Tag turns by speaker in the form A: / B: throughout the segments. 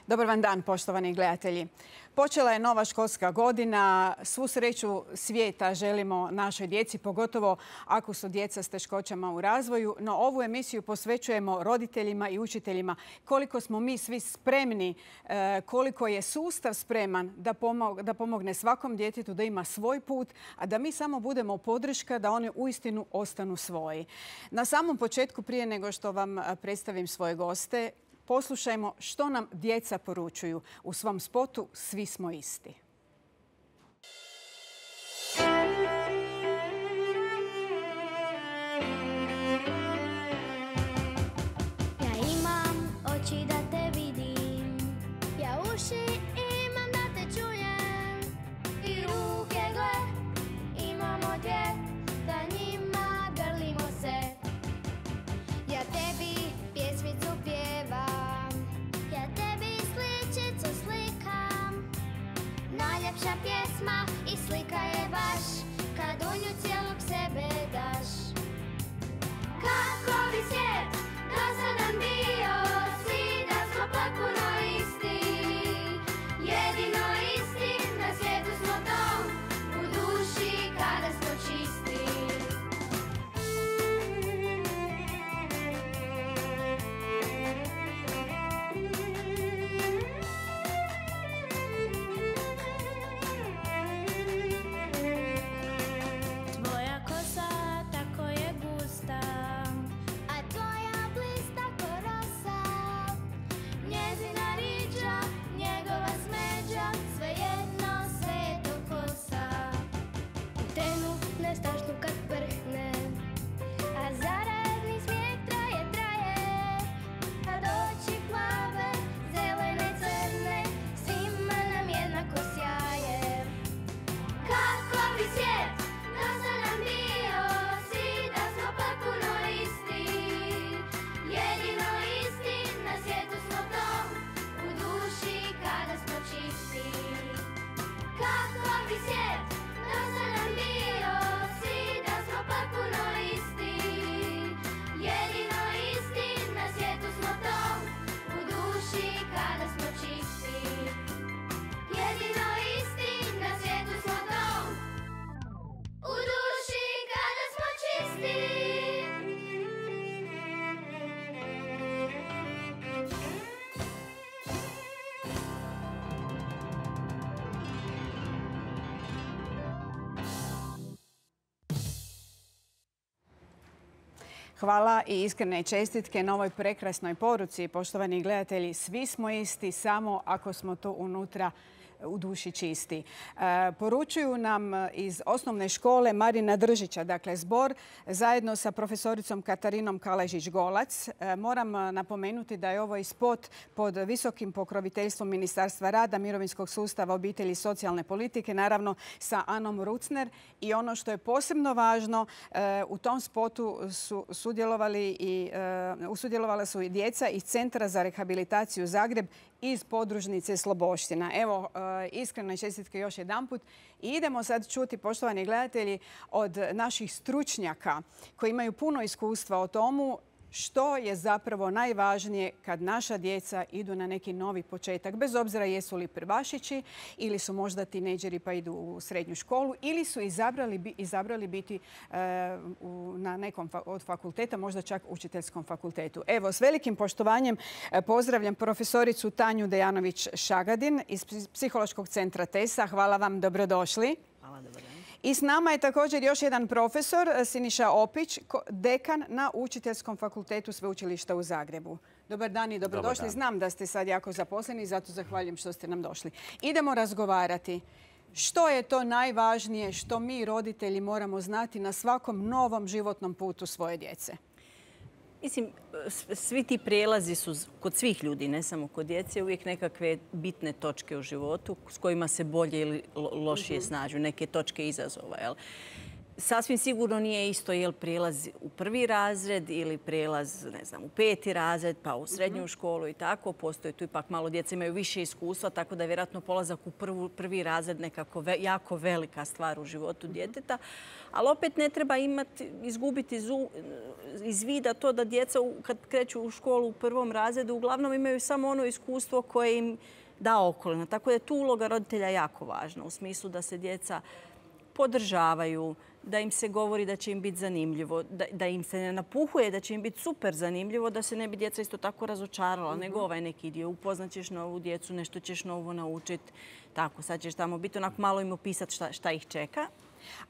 A: Dobar vam dan, poštovani gledatelji. Počela je nova školska godina. Svu sreću svijeta želimo našoj djeci, pogotovo ako su djeca s teškoćama u razvoju. No ovu emisiju posvećujemo roditeljima i učiteljima. Koliko smo mi svi spremni, koliko je sustav spreman da pomogne svakom djetetu da ima svoj put, a da mi samo budemo podrška da one uistinu ostanu svoji. Na samom početku, prije nego što vam predstavim svoje goste, poslušajmo što nam djeca poručuju u svom spotu Svi smo isti.
B: Ja imam oči da te vidim, ja uši imam da te čujem, i ruke gle imamo dvije, da njima grlimo se. Ja tebi pjesmicu pjevam, ja tebi sličicu slikam. Najljepša pjesma i slika je baš kad u nju cijelog sebe daš. Kako bi svijet do sada bio, svi da smo potpuno isti, jedino isti na svijetu smo tom, u duši kada smo čisti. Tvoja kosa tako je gusta, a tvoja blista ko rosa. Njezina riđa, njegova smeđa, svejedno sve je to kosa. U trenu nestašnu kad prhne, a zarazni smijeh traje, traje. A doći plave, zelene, crne, svima nam jednako sjaje. Kako bi svijet do sada bio, svi da smo potpuno isti, jedino isti na svijetu smo tom, u duši kada smo čisti. Kako bi svijet do sada bio, svi da smo potpuno isti, jedino isti na svijetu smo tom, u duši kada smo čisti. Jedino isti na svijetu smo tom, u duši kada smo čisti.
A: Hvala i iskrene čestitke na ovoj prekrasnoj poruci. Poštovani gledatelji, svi smo isti samo ako smo to unutra u duši čisti. Poručuju nam iz osnovne škole Marina Držića, dakle zbor, zajedno sa profesoricom Katarinom Kaležić-Golac. Moram napomenuti da je ovo i spot pod visokim pokroviteljstvom Ministarstva rada, mirovinskog sustava, obitelji i socijalne politike, naravno sa Anom Rucner. I ono što je posebno važno, u tom spotu sudjelovala su i djeca iz Centra za rehabilitaciju Zagreb iz podružnice Sloboština. Evo, iskrene čestitke još jedanput. I idemo sad čuti, poštovani gledatelji, od naših stručnjaka koji imaju puno iskustva o tomu što je zapravo najvažnije kad naša djeca idu na neki novi početak. Bez obzira jesu li prvašići ili su možda tinejdžeri pa idu u srednju školu ili su izabrali biti na nekom od fakulteta, možda čak učiteljskom fakultetu. Evo, s velikim poštovanjem pozdravljam profesoricu Tanju Dejanović-Šagadin iz Psihološkog centra TESA. Hvala vam, dobrodošli.
C: Hvala, dobar dan.
A: I s nama je također još jedan profesor, Siniša Opić, dekan na Učiteljskom fakultetu Sveučilišta u Zagrebu. Dobar dan i dobrodošli.
C: Dobar dan.
A: Znam da ste sad jako zaposleni, zato zahvaljujem što ste nam došli. Idemo razgovarati. Što je to najvažnije što mi roditelji moramo znati na svakom novom životnom putu svoje djece?
C: Mislim, svi ti prijelazi su kod svih ljudi, ne samo kod djece, uvijek nekakve bitne točke u životu s kojima se bolje ili lošije snađu, neke točke izazova. Jel? Sasvim sigurno nije isto je li prijelaz u prvi razred ili prijelaz, ne znam, u 5. razred, pa u srednju školu i tako. Postoje tu ipak malo djeca imaju više iskustva, tako da je vjerojatno polazak u prvi razred nekako jako velika stvar u životu djeteta. Ali opet ne treba izgubiti iz vida to da djeca kad kreću u školu u 1. razredu uglavnom imaju samo ono iskustvo koje im da okolina. Tako da je tu uloga roditelja jako važna u smislu da se djeca podržavaju, da im se govori da će im biti zanimljivo, da im se ne napuhuje da će im biti super zanimljivo, da se ne bi djeca isto tako razočarala, nego ovaj neki dio. Upoznaćeš novu djecu, nešto ćeš novo naučiti. Tako, sad ćeš tamo biti onako malo im opisati šta ih čeka.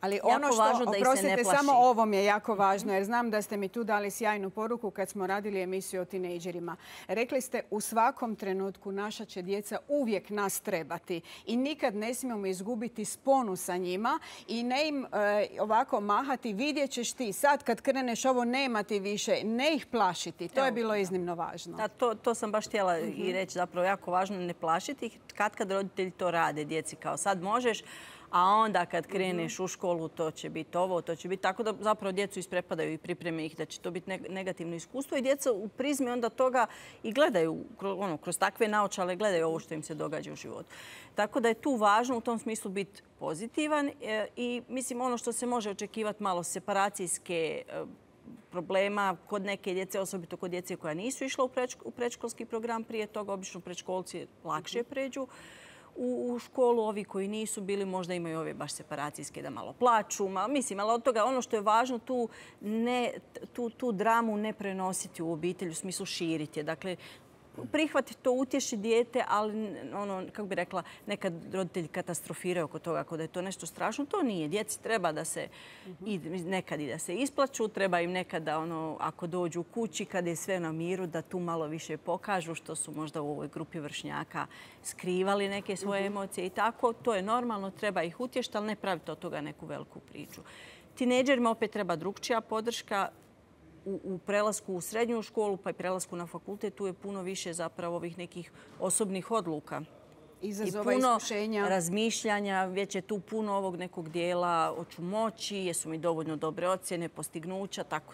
A: Ali ono što, oprostite, samo ovo mi je jako važno, jer znam da ste mi tu dali sjajnu poruku kad smo radili emisiju o tinejdžerima. Rekli ste u svakom trenutku naša će djeca uvijek nas trebati i nikad ne smijemo izgubiti sponu sa njima i ne im ovako mahati, vidjet ćeš ti sad kad kreneš ovo nema ti više, ne ih plašiti. To je bilo iznimno važno.
C: To sam baš htjela i reći, zapravo jako važno ne plašiti ih. Kad roditelji to rade djeci kao sad možeš, a onda kad kreneš u školu to će biti ovo, to će biti tako da zapravo djecu isprepadaju i pripreme ih da će to biti negativno iskustvo i djeca u prizmi onda toga i gledaju, kroz takve naočale gledaju ovo što im se događa u životu. Tako da je tu važno u tom smislu biti pozitivan i mislim ono što se može očekivati malo separacijske problema kod neke djece, osobito kod djece koja nisu išla u predškolski program prije toga, obično predškolci lakše pređu u školu. Ovi koji nisu bili možda imaju ove baš separacijske da malo plaču. Mislim, ali od toga ono što je važno tu dramu ne prenositi u obitelj, u smislu širiti je. Dakle, prihvati to, utješi dijete, ali kako bi rekla, nekad roditelji katastrofiraju oko toga ako da je to nešto strašno. To nije. Djeci treba da se nekad i da se isplaču, treba im nekada ako dođu u kući, kada je sve na miru, da tu malo više pokažu što su možda u ovoj grupi vršnjaka skrivali neke svoje emocije i tako. To je normalno, treba ih utješiti, ali ne praviti od toga neku veliku priču. Tinejdžerima opet treba drugčija podrška. U prelasku u srednju školu pa i prelasku na fakultet tu je puno više zapravo ovih nekih osobnih odluka.
A: Izazova,
C: i puno
A: iskušenja.
C: Razmišljanja, već je tu puno ovog nekog dijela hoću moći, jesu mi dovoljno dobre ocjene, postignuća, tako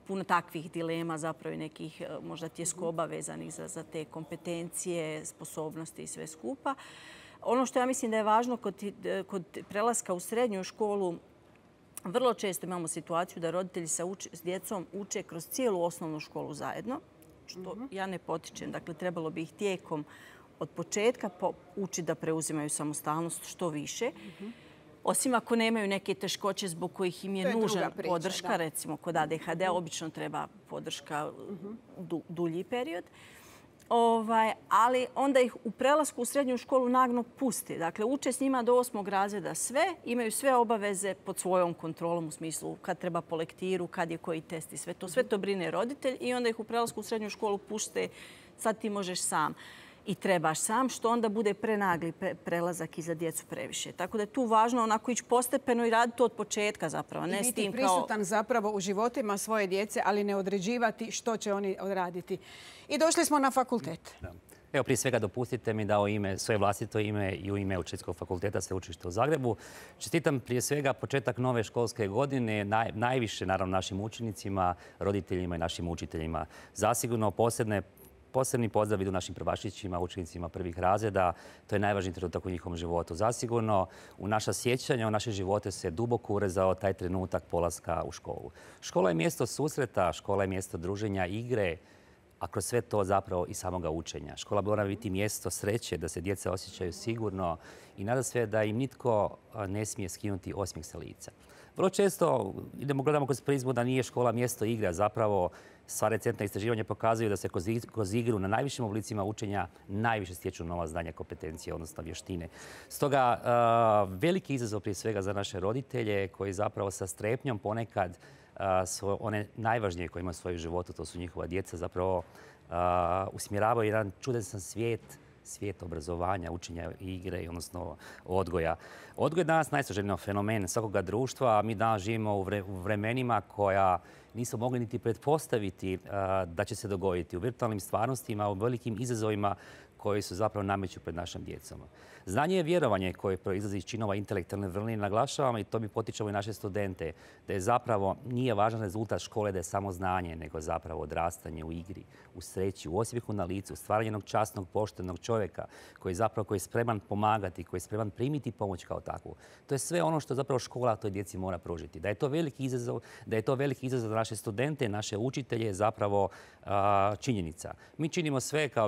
C: puno takvih dilema zapravo i nekih možda tjeskoba vezanih za te kompetencije, sposobnosti i sve skupa. Ono što ja mislim da je važno kod prelaska u srednju školu, vrlo često imamo situaciju da roditelji s djecom uče kroz cijelu osnovnu školu zajedno, što ja ne potičem. Dakle, trebalo bi ih tijekom od početka učiti da preuzimaju samostalnost što više. Osim ako nemaju neke teškoće zbog kojih im je nužna podrška, recimo kod ADHD obično treba podrška dulji period. Ali onda ih u prelasku u srednju školu naglo pusti. Dakle, uče s njima do 8. razreda sve, imaju sve obaveze pod svojom kontrolom u smislu kad treba po lektiru, kad je koji test i sve to. Sve to brine roditelj i onda ih u prelasku u srednju školu pušte, sad ti možeš sam i trebaš sam, što onda bude prenagli prelazak i za djecu previše. Tako da je tu važno onako ići postepeno i raditi to od početka zapravo.
A: I biti prisutan zapravo u životima svoje djece, ali ne određivati što će oni odraditi. I došli smo na fakultet.
D: Evo, prije svega dopustite mi da u ime, svoje vlastito ime i u ime Učiteljskog fakulteta Sveučilišta u Zagrebu čestitam prije svega početak nove školske godine najviše naravno našim učenicima, roditeljima i našim učiteljima. Zasigurno posebni pozdrav idu našim prvašićima, učenicima prvih razreda. To je najvažniji trenutak u njihovom životu. Zasigurno u naša sjećanja, u naše živote se duboko urezao taj trenutak polaska u školu. Škola je mjesto susreta, škola je mjesto druženja, igre, a kroz sve to zapravo i samoga učenja. Škola mora biti mjesto sreće, da se djeca osjećaju sigurno i nada sve da im nitko ne smije skinuti osmijeh sa lica. Vrlo često gledamo kroz prizmu da nije škola mjesto igre, zapravo sva recentna istraživanja pokazuju da se kroz igru na najvišim oblicima učenja najviše stječu nova znanja, kompetencije, odnosno vještine. Stoga veliki izazov prije svega za naše roditelje koji zapravo sa strepnjom ponekad one najvažnije koje imaju u svojem životu, to su njihova djeca, zapravo usmjeravaju jedan čudesan svijet obrazovanja, učenja igre, odnosno odgoja. Odgoj je danas najsloženiji fenomen svakoga društva, a mi danas živimo u vremenima koja nisu mogli niti pretpostaviti da će se dogoditi. U virtualnim stvarnostima, u velikim izazovima koji su zapravo nameću pred našom djecom. Znanje je vjerovanje koje proizlazi iz činova intelektualne vrline. Naglašavamo i to mi potičemo i naše studente, da je zapravo nije važan rezultat škole da je samo znanje, nego zapravo odrastanje u igri, u sreći, u osmijehu na licu, stvaranje jednog časnog, poštenog čovjeka koji je spreman pomagati, koji je spreman primiti pomoć kao takvu. To je sve ono što zapravo škola toj djeci mora pružiti. Da je to veliki izazov za naše studente, naše učitelje je zapravo činjenica. Mi činimo sve kao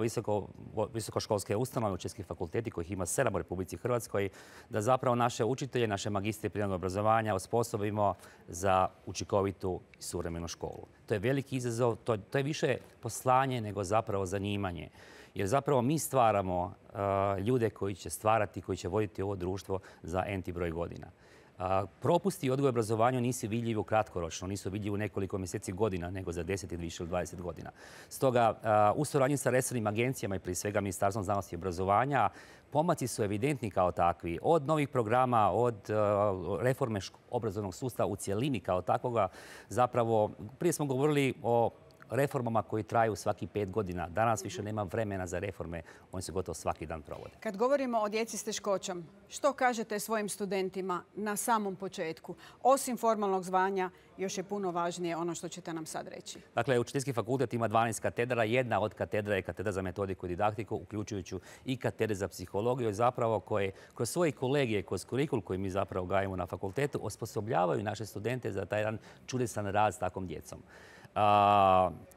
D: visokoškolske ustanove, učiteljski fakulteti kojih ima 7 u Republici Hrvatskoj, da zapravo naše učitelje, naše magistre prirodnog obrazovanja osposobimo za učinkovitu i suvremenu školu. To je veliki izazov, to je više poslanje nego zapravo zanimanje. Jer zapravo mi stvaramo ljude koji će stvarati, koji će voditi ovo društvo za n broj godina. Propusti odgoja i obrazovanju nisu vidljivi kratkoročno, nisu vidljivi u nekoliko mjeseci, godina, nego za 10 ili više od 20 godina. Stoga, u suradnji sa resornim agencijama i prije svega Ministarstvom znanosti i obrazovanja, pomaci su evidentni kao takvi. Od novih programa, od reforme obrazovnog sustava u cjelini kao takvoga. Zapravo, prije smo govorili o reformama koji traju svaki 5 godina. Danas više nema vremena za reforme, oni se gotovo svaki dan provode.
A: Kad govorimo o djeci s teškoćom, što kažete svojim studentima na samom početku? Osim formalnog zvanja, još je puno važnije ono što ćete nam sad reći.
D: Dakle, Učiteljski fakultet ima 12 katedra. Jedna od katedra je katedra za metodiku i didaktiku, uključujući i katedre za psihologiju, zapravo koje kroz svoje kolegije, kroz kurikul koji mi zapravo gajimo na fakultetu, osposobljavaju naše studente za taj jedan čudesan rad s takvom djecom.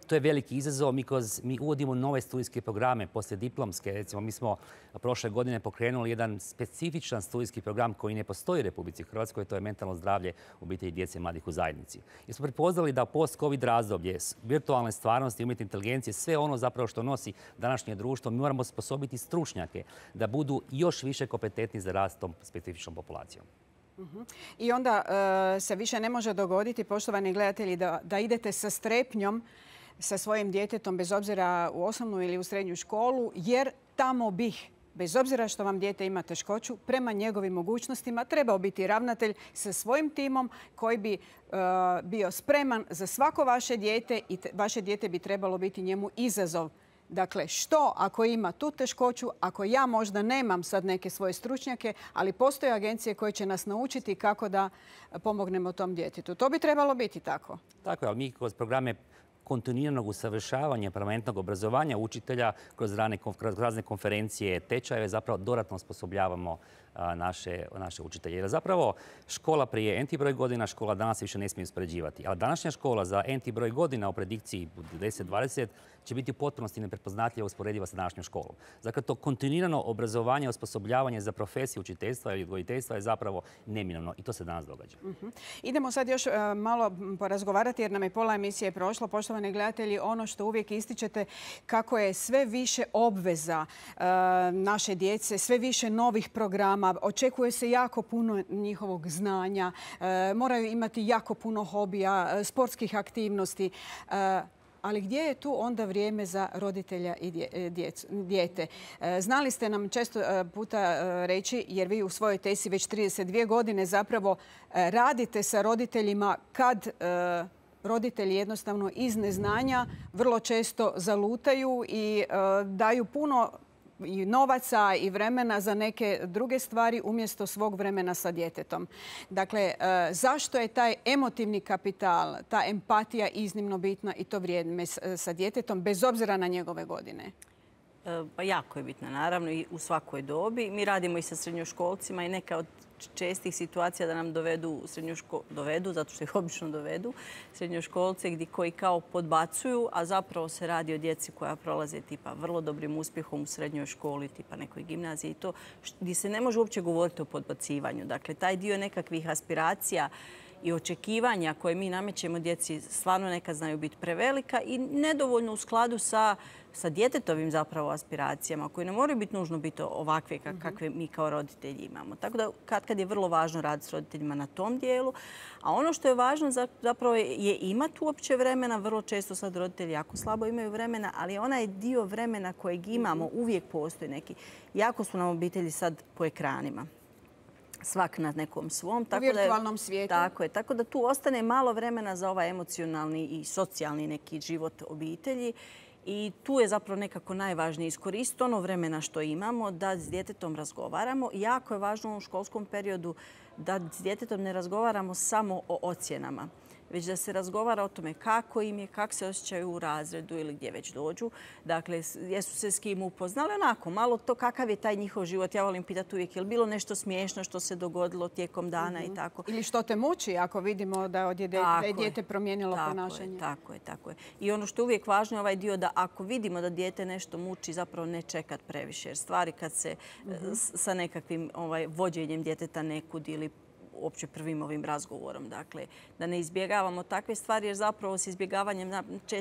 D: To je veliki izazov. Mi uvodimo nove studijske programe poslijediplomske. Recimo, mi smo prošle godine pokrenuli jedan specifičan studijski program koji ne postoji u Republici Hrvatskoj, to je mentalno zdravlje obitelji, djece i mladih u zajednici. Jer smo prepoznali da post-covid razdoblje, virtualne stvarnosti, umjetne inteligencije, sve ono zapravo što nosi današnje društvo, mi moramo sposobiti stručnjake da budu još više kompetentni za rad s tom specifičnom populacijom.
A: I onda se više ne može dogoditi, poštovani gledatelji, da idete sa strepnjom sa svojim djetetom, bez obzira u osnovnu ili u srednju školu, jer tamo bih, bez obzira što vam dijete ima teškoću, prema njegovim mogućnostima trebao biti ravnatelj sa svojim timom koji bi bio spreman za svako vaše dijete i vaše dijete bi trebalo biti njemu izazov. Dakle, što ako ima tu teškoću, ako ja možda nemam sad neke svoje stručnjake, ali postoje agencije koje će nas naučiti kako da pomognemo tom djetetu. To bi trebalo biti tako.
D: Tako je, ali mi kroz programe kontinuiranog usavršavanja, permanentnog obrazovanja učitelja, kroz razne konferencije, tečajeve, zapravo dodatno osposobljavamo naše učitelje. Jer zapravo škola prije n broj godina, škola danas više ne smije uspoređivati. Ali današnja škola za n broj godina u predikciji 10-20 će biti u potpunosti neprepoznatljiva usporediva sa današnjom školom. Dakle, to kontinuirano obrazovanje, osposobljavanje za profesiju učiteljstva ili odgojiteljstva je zapravo neminovno i to se danas događa.
A: Idemo sad još malo porazgovarati jer nam je pola emisije prošlo. Poštovani gledatelji, ono što uvijek ističete kako je sve više obveza naše djece, sve više novih programa, očekuje se jako puno njihovog znanja, moraju imati jako puno hobija, sportskih aktivnosti. Ali gdje je tu onda vrijeme za roditelja i dijete? Znali ste nam često puta reći, jer vi u svojoj tesi već 32 godine zapravo radite sa roditeljima kad roditelji jednostavno iz neznanja vrlo često zalutaju i daju puno i novaca i vremena za neke druge stvari umjesto svog vremena sa djetetom. Dakle, zašto je taj emotivni kapital, ta empatija iznimno bitna i to vrijeme sa djetetom bez obzira na njegove godine?
C: Pa jako je bitna, naravno, i u svakoj dobi. Mi radimo i sa srednjoškolcima i neka od čestih situacija da nam dovedu, zato što ih obično dovedu, srednjoškolce koji kao podbacuju, a zapravo se radi o djeci koja prolaze tipa vrlo dobrim uspjehom u srednjoj školi, tipa nekoj gimnaziji i to, gdje se ne može uopće govoriti o podbacivanju. Dakle, taj dio nekakvih aspiracija i očekivanja koje mi namećemo djeci stvarno nekad znaju biti prevelika i nedovoljno u skladu sa djetetovim zapravo aspiracijama koje ne moraju biti nužno biti ovakve kakve mi kao roditelji imamo. Tako da kad je vrlo važno raditi s roditeljima na tom dijelu. A ono što je važno zapravo je imati uopće vremena. Vrlo često sad roditelji jako slabo imaju vremena, ali onaj dio vremena kojeg imamo uvijek postoji neki. Jako su nam obitelji sad po ekranima. Svak na nekom svom.
A: U virtualnom svijetu.
C: Tako je. Tako da tu ostane malo vremena za ovaj emocionalni i socijalni neki život obitelji. I tu je zapravo nekako najvažnije iskoristiti ono vremena što imamo da s djetetom razgovaramo. Jako je važno u školskom periodu da s djetetom ne razgovaramo samo o ocjenama, već da se razgovara o tome kako im je, kako se osjećaju u razredu ili gdje već dođu. Dakle, jesu se s kim upoznali, onako, malo to kakav je taj njihov život. Ja volim pitati uvijek, je li bilo nešto smiješno što se dogodilo tijekom dana i tako.
A: Ili što te muči ako vidimo da je dijete promijenilo ponašanje.
C: Tako je. I ono što je uvijek važno je ovaj dio da ako vidimo da dijete nešto muči, zapravo ne čekat previše. Jer stvari kad se sa nekakvim vođenjem djeteta nekud ili uopće prvim ovim razgovorom. Dakle, da ne izbjegavamo takve stvari jer zapravo s izbjegavanjem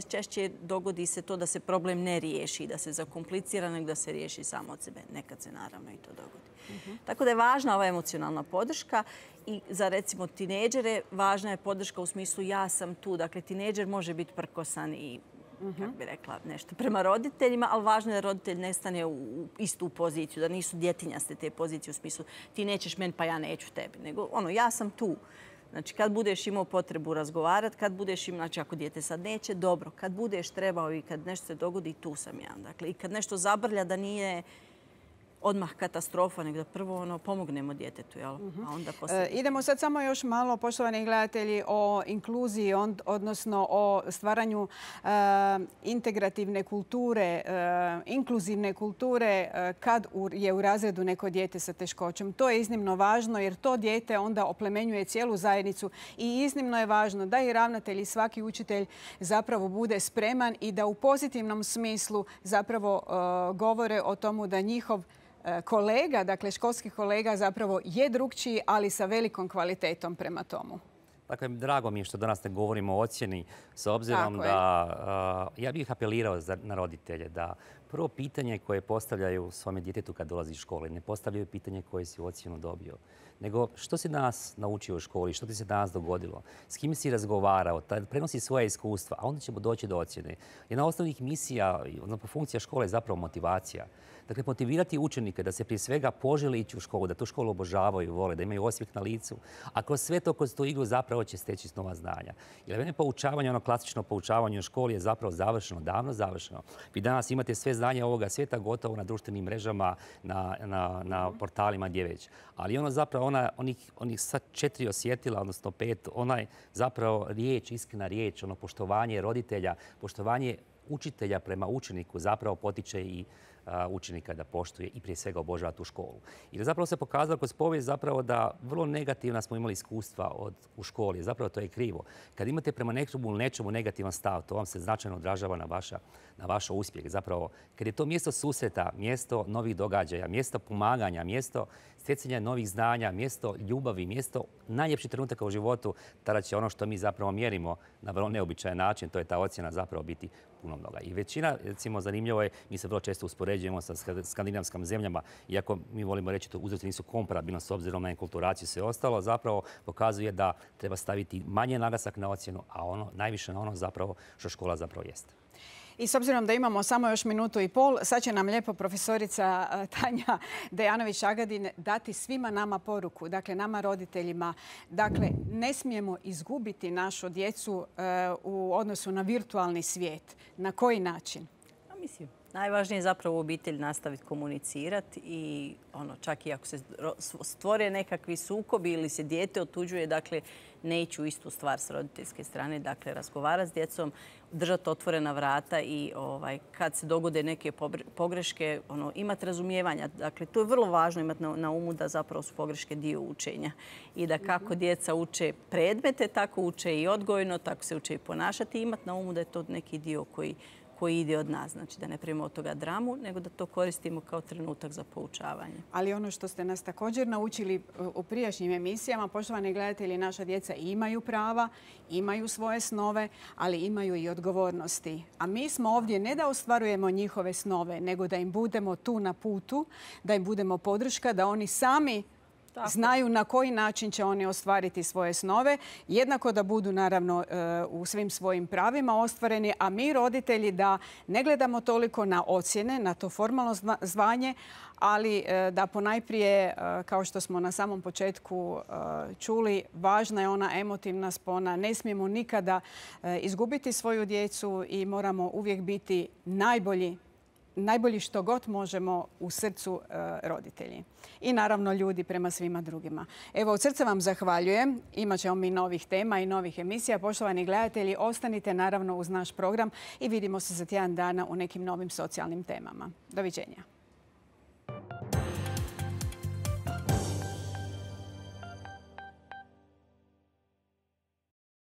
C: češće dogodi se to da se problem ne riješi, da se zakomplicira, nego da se riješi samo od sebe. Nekad se naravno i to dogodi. Tako da je važna ova emocionalna podrška i za recimo tinejdžere važna je podrška u smislu ja sam tu. Dakle, tinejdžer može biti prkosan i kako bi rekla, nešto prema roditeljima, ali važno je da roditelj ne stane u istu poziciju, da nisu djetinjaste te pozicije u smislu ti nećeš meni pa ja neću tebi, nego ja sam tu. Znači, kad budeš imao potrebu razgovarati, kad budeš imao, znači ako dijete sad neće, dobro, kad budeš trebao i kad nešto se dogodi, tu sam ja. Dakle, i kad nešto zabrlja da nije odmah katastrofa, nego da prvo pomognemo djetetu, a onda poslije.
A: Idemo sad samo još malo, poštovani gledatelji, o inkluziji, odnosno o stvaranju integrativne kulture, inkluzivne kulture kad je u razredu neko dijete sa teškoćom. To je iznimno važno jer to dijete onda oplemenjuje cijelu zajednicu i iznimno je važno da i ravnatelj i svaki učitelj zapravo bude spreman i da u pozitivnom smislu zapravo govore o tomu da njihov kolega, dakle školski kolega zapravo je drukčiji, ali sa velikom kvalitetom prema tomu.
D: Dakle, drago mi je što danas ne govorimo o ocjeni, s obzirom da ja bih apelirao na roditelje da prvo pitanje koje postavljaju svome djetetu kad dolazi iz škole, ne postavljaju pitanje koje si ocjenu dobio, nego što si danas naučio u školi, što ti se danas dogodilo, s kim si razgovarao, prenosi svoje iskustva, a onda ćemo doći do ocjene. Jedna od osnovnih misija, funkcija škole je zapravo motivacija. Dakle, motivirati učenike da se prije svega požele ići u školu, da tu školu obožavaju, vole, da imaju osmijeh na licu. A kroz sve to, kroz tu igru zapravo će steći nova znanja. Jer mene poučavanje, ono klasično poučavanje u školi je zapravo završeno, davno završeno. Vi danas imate sve znanje ovoga svijeta gotovo na društvenim mrežama, na portalima gdje već. Ali ono zapravo, onih sad 4 osjetila, odnosno 5, onaj zapravo riječ, iskrena riječ, ono poštovanje roditelja, poštovanje učitelja prema učeniku zapravo potiče i učenika da poštuje i prije svega obožava tu školu. I zapravo se pokazalo kroz povijest zapravo da vrlo negativna smo imali iskustva u školi. Zapravo to je krivo. Kad imate prema nečemu negativan stav, to vam se značajno odražava na vaš uspjeh. Zapravo, kad je to mjesto susreta, mjesto novih događaja, mjesto pomaganja, mjesto stjecanja novih znanja, mjesto ljubavi, mjesto najljepših trenutaka u životu, tada će ono što mi zapravo mjerimo na vrlo neobičajan način, to je ta ocjena zapravo biti puno mnoga. I većina, recimo, zanimljivo je, mi se vrlo često uspoređujemo sa skandinavskim zemljama, iako mi volimo reći to uzroci nisu komparabilni s obzirom na enkulturaciju i sve ostalo, zapravo pokazuje da treba staviti manje naglasak na ocjenu, a najviše na ono zapravo što škola zapravo jeste.
A: I s obzirom da imamo samo još minutu i pol, sad će nam lijepo profesorica Tanja Dejanović-Agadin dati svima nama poruku, dakle nama roditeljima. Dakle, ne smijemo izgubiti našu djecu u odnosu na virtualni svijet. Na koji način?
C: Mislim, najvažnije je zapravo u obitelji nastaviti komunicirati i čak i ako se stvore nekakvi sukobi ili se dijete otuđuje, dakle, ne ići u istu stvar s roditeljske strane, dakle, razgovarati s djecom, držati otvorena vrata i kad se dogode neke pogreške, imati razumijevanja. Dakle, to je vrlo važno imati na umu da zapravo su pogreške dio učenja i da kako djeca uče predmete, tako uče i odgojno, tako se uče i ponašati i imati na umu da je to neki dio koji ide od nas. Znači da ne primimo od toga dramu, nego da to koristimo kao trenutak za poučavanje.
A: Ali ono što ste nas također naučili u prijašnjim emisijama, poštovani gledatelji, naša djeca imaju prava, imaju svoje snove, ali imaju i odgovornosti. A mi smo ovdje ne da ostvarujemo njihove snove, nego da im budemo tu na putu, da im budemo podrška, da oni sami znaju na koji način će oni ostvariti svoje snove. Jednako da budu naravno u svim svojim pravima ostvareni, a mi roditelji da ne gledamo toliko na ocjene, na to formalno zvanje, ali da ponajprije, kao što smo na samom početku čuli, važna je ona emotivna spona. Ne smijemo nikada izgubiti svoju djecu i moramo uvijek biti najbolji što god možemo u srcu roditelji. I naravno ljudi prema svima drugima. Evo, od srca vam zahvaljujem. Imat ćemo mi novih tema i novih emisija. Poštovani gledatelji, ostanite naravno uz naš program i vidimo se za tjedan dana u nekim novim socijalnim temama. Doviđenja.